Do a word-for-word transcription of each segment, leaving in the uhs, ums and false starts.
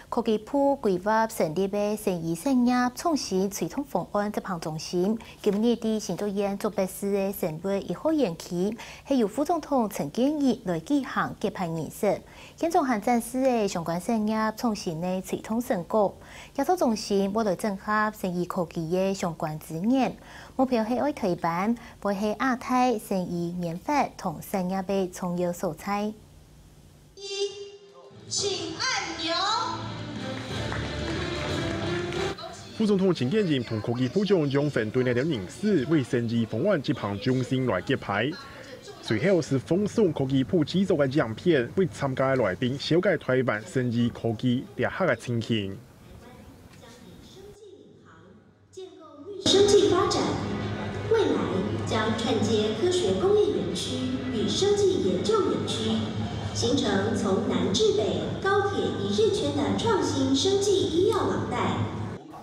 科技部規劃成立个生醫產業創新推動方案執行中心，今日在新竹縣竹北市个生活一號園區，係由副總統陳建仁來舉行揭牌儀式。現場還展示个相關產業創新个推動成果。這套中心會來整合生醫科技个相關資源，目標係愛推動，會係亞太生醫研發同產業个重要所在。 一，請按鈕。副總統陳建仁同科技部長楊文對這兜人士為生醫方案執行中心來揭牌。隨後係放送科技部製作个影片，為參加个來賓紹介台灣生醫科技這下个情形。 生技發展，未來將串接科學工業園區與生技研究園區，形成從南至北高鐵一日圈的創新生技醫藥廊帶。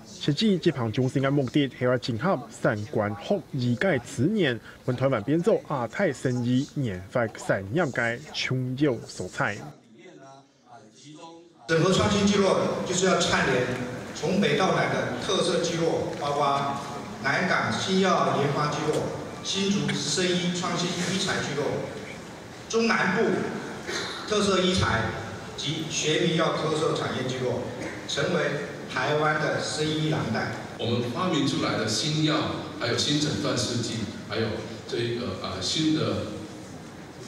設計這項中心个目的係愛整合產官學醫个資源，分台灣變做亞太生醫研發產業个重要所在。 整合創新聚落就是要串聯從北到南的特色聚落，包括南港新藥研发聚落、新竹生医创新医材聚落、中南部特色医材及学名药特色产业聚落，成为台湾的生医廊带。我们发明出来的新药，还有新诊断试剂，还有这一个啊新的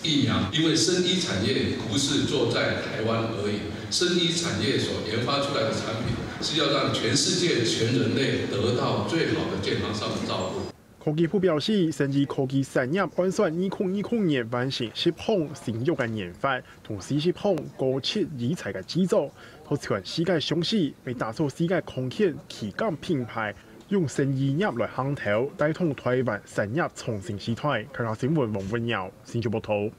疫苗，因为生医产业不是做在台湾而已，生医产业所研发出来的产品是要让全世界全人类得到最好的健康上的照顾。科技部表示，生医科技產業按算二零二零年完成十項新藥个研發，同四十項高值醫材个製造，對全世界上市，為打造世界康健旗艦品牌，用生醫業來行頭，帶動台灣產業創新時代。客家新聞王文耀，新竹報導。